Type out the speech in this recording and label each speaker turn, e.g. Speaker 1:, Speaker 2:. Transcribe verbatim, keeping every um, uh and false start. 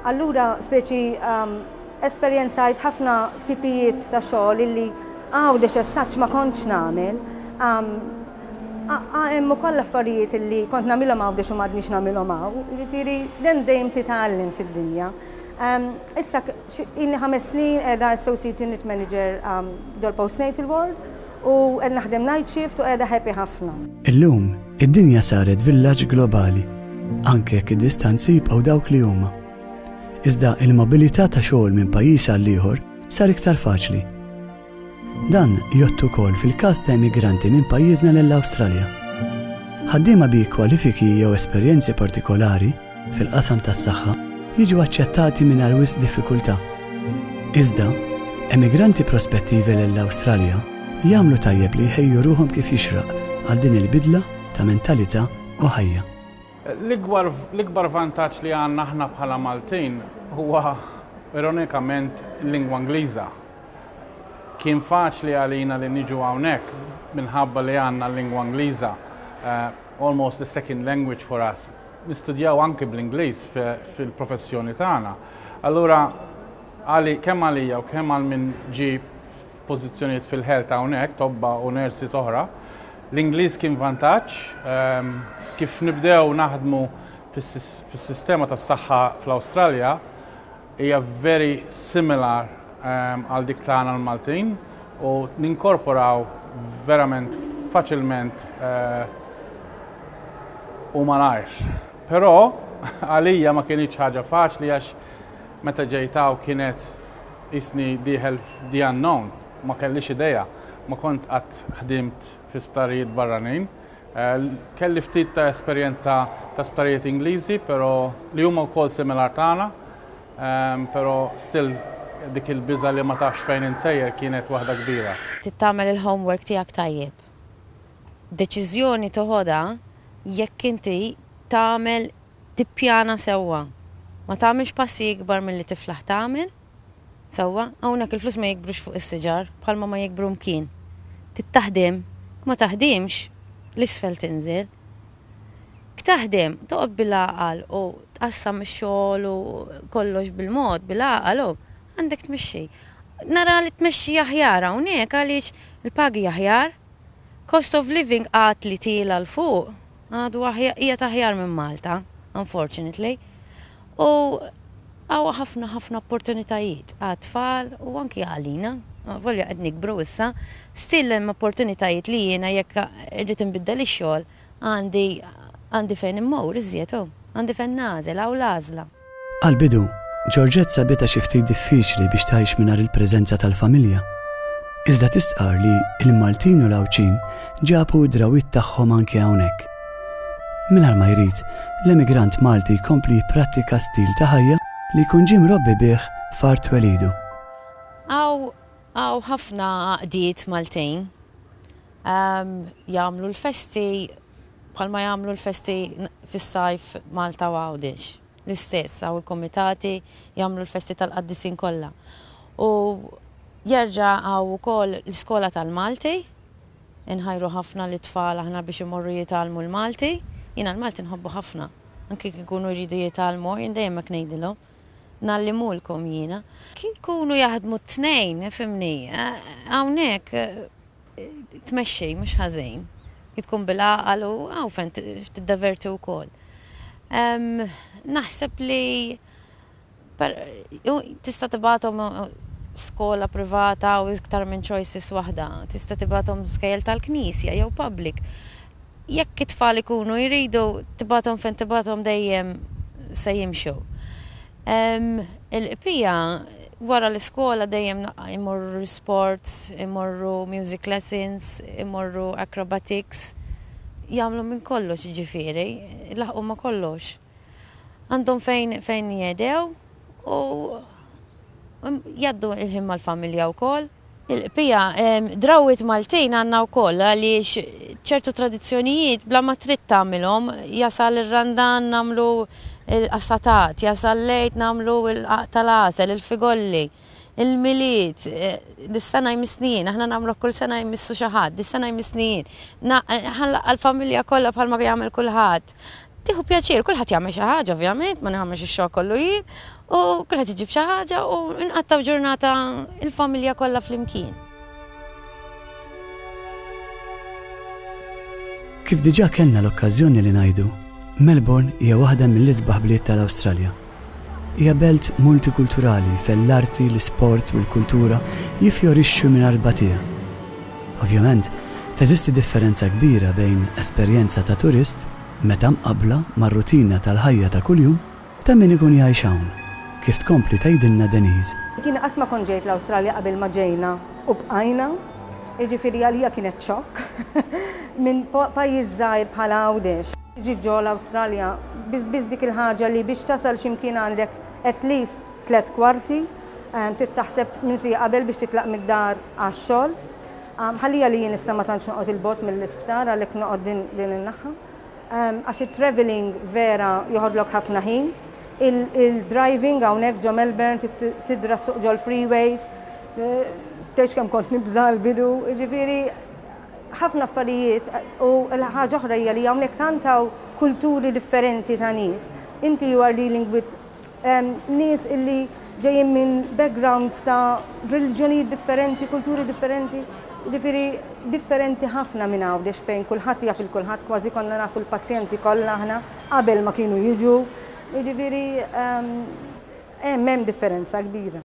Speaker 1: Allura speċi um, esperjenzajt ħafna tipijiet ta' xogħol illi Għawdex as such ma kontx nagħmel. Um, Hemm ukoll affarijiet illi kont nagħmilhom Għawdex u m'għadniex nagħmilhom hawn. Jiġifieri dan dejjem titgħallem fid-dinja. Um, issa inni ħames snin qiegħda Associate Unit Manager um, dol Postnatal Ward u qed naħdem night shift u qiegħda happy ħafna.
Speaker 2: Illum, id-dinja saret villaġġ globali, anke jekk id-distanzi jibqgħu dawk li huma. Iżda il-mobilità ta' xogħol minn pajjiż għal ieħor sar iktar faċli. Dan jgħodd ukoll fil-każ ta' immigranti minn pajjiżna lill-Awstralja. Ħaddiema bi kwalifiki jew esperjenzi partikolari fil-qasam tas-saħħa jiġu aċċettati mingħajr wisq diffikultà. Iżda, emigranti prospettivi lill-Awstralja jagħmlu tajjeb li jħejju ruhom kif jixraq għal din il-bidla ta' mentalità u ħajja.
Speaker 3: L-ikbar vantaġġ li għandna aħna bħala Maltin huwa ironikament l-lingwa Ingliża. Kien faċli għalina li niġu hawnhekk minħabba li għandna l-lingwa Ingliża, uh, almost the second language for us. Nistudjaw anke bl-Ingliż fil-professjoni tagħna. Allura għali kemm għalija u kemm għal min ġi pożizzjonijiet fil-health hawnhekk, tobba u nurses oħra, l-Ingliż kien vantaġġ um, kif nibdew naħdmu fis-sistema tas-saħħa fl-Awstralja hija very similar um, għal dik tagħna l-Maltin u ninkorporaw verament faċilment uh, u malajr. Però għalija ma kienx ħaġa faċli għax meta ġejt hawn kienet jiġifieri dieħel the unknown, ma kellix idea, ma kont qatt ħdimt fi sptarijiet barranin. Eh, kelli ftit ta' esperjenza ta' sptarijiet Ingliżi, però li huma wkoll similar tagħna, ehm, però still dik il-biża li ma tafx fejn int sejjer kienet waħda kbira.
Speaker 4: Tagħmel il-homework tiegħek tajjeb. Deċiżjoni toħodha jekk inti tagħmel, tippjana sewwa. Ma tagħmilx passi ikbar milli tiflaħ tagħmel. Sewwa, hawnhekk il-flus ma jikbrux fuq is-siġar bħalma ma jikbru mkien. Trid taħdem, ma taħdimx, l-isfel tinżel. Taħdem, toqgħod bil-għaqal u tqassam ix-xogħol u kollox bil-mod, bil-għaqal u għandek tmexxi. Nara li tmexxi aħjar hawnhekk għaliex il-pagi aħjar, cost of living għad li tiela' 'l fuq, għadu qiegħed aħjar minn Malta, unfortunately. U hawn ħafna ħafna opportunitajiet għat-tfal u anki għalina, volja qed nikbru issa, still hemm opportunitajiet li jiena jekk irrid inbiddel ix-xogħol għandi għandi fejn immur iżjed għandi fejn nagħżel hawn l-għażla.
Speaker 2: Għal-bidu, Georgette sabitha xi ftit diffiċli biex tgħix mingħajr il-preżenza tal-familja. Iżda tistqar li il-Maltin u l-Għawdxin ġabu d-drawwiet tagħhom anke hawnhekk. Mingħajr ma jrid, l-emigrant Malti jkompli jipprattika stil ta' ħajja li jkun ġie mrobbi bih f'art twelidu.
Speaker 4: Hawn hawn ħafna għaqdiet Maltin um, jagħmlu l-festi bħalma jagħmlu l-festi fis-sajf Malta u Għawdex. L-istess, hawn il-komitati jagħmlu l-festi tal-qaddisin kollha. U jerġa' hawn ukoll l-iskola tal-Malti, inħajru ħafna l-tfal aħna biex imorru jitgħallmu l-Malti. Jiena l-Malti nħobbu ħafna. Anki kikunu jridu jitgħallmu, jien dejjem hekk ngħidilhom. Ngħallimulkom jiena. Kien kunu jaħdmu t-tnejn, fhimni, hawnhekk tmexxi mhux ħażin. Tkun bil-għaqal u hawn fejn tiddeverti wkoll. Naħseb li tista' tibgħathom skola privata u iktar minn choices waħda. Tista' tibgħathom skejjel tal-knisja jew public. Jekk it-tfal ikunu jridu, tibgħathom fejn tibgħathom dejjem se jimxu. Il-bqija wara l-iskola dejjem imorru sports, imorru music lessons, imorru acrobatics, jagħmlu minn kollox, ġifieri, laħqu ma kollox. Għandhom fejn fejn jedew u jgħaddu il-ħin mal-familja wkoll. Il-bqija, drawwiet Maltin għandna wkoll għaliex ċertu tradizzjonijiet bla ma trid tagħmilhom, jasal ir-Randan nagħmlu il-qassatat, jasal l-Għid nagħmlu tal-għasel, il-figolli, il-Milied, dis-sena jmissni jien, aħna nagħmlu kull sena jmissu xi ħadd, dis-sena jmissni jien. Għal-familja kollha bħalma jagħmel kulħadd. Tieħu pjaċir, kulħadd jagħmel xi ħaġa ovvjament, ma nagħmelx ix-xogħol kollu jien, u kulħadd iġib xi ħaġa u nqattaw ġurnata il-familja kollha flimkien.
Speaker 2: Kif diġà kellna l-okkażjoni li ngħidu, Melbourne hija waħda mill-isbaħ bliet tal-Awstralja. Hija belt multikulturali fejn l-arti, l-isport u l-kultura jiffjorixxu mingħajr batija. Ovvjament, teżisti differenza kbira bejn esperjenza ta' turist meta mqabbla mar-rutina tal-ħajja ta' kuljum ta' min ikun jgħix hawn, kif tkompli tgħidilna Denise.
Speaker 1: Jiena qatt ma kont ġejt l-Awstralja qabel ma ġejna u bqajna, jiġifieri għalija kienet xokk. Minn pajjiż żgħir bħal Għawdex, tiġi ġo l-Awstralja, biss biss dik il-ħaġa li biex tasal x'imkien għandek at least tliet kwarti, trid taħseb minn siegħa qabel biex titlaq mid-dar għax-xogħol. Ħallija li jien issa ma tantx noqgħod 'il bogħod mill-isptar għalhekk noqgħod din din in-naħa. Għax it-travelling vera joħodlok ħafna ħin. Il-driving hawnhekk ġo Melbourne tidra ssuq ġol-freeways, tgħidx kemm kont nibża' l-bidu, jiġifieri ħafna affarijiet u l-ħaġa oħra hija li hawnhekk tant hawn kulturi differenti ta' nies. Inti you are dealing with nies illi ġejjin minn backgrounds ta' reliġjonijiet differenti, kulturi differenti, jiġifieri differenti ħafna minn Għawdex fejn kulħadd jaf il kulħadd, kważi konna nafu l-pazjenti kollha aħna qabel ma kienu jiġu. Jiġifieri hemm hemm differenza kbira.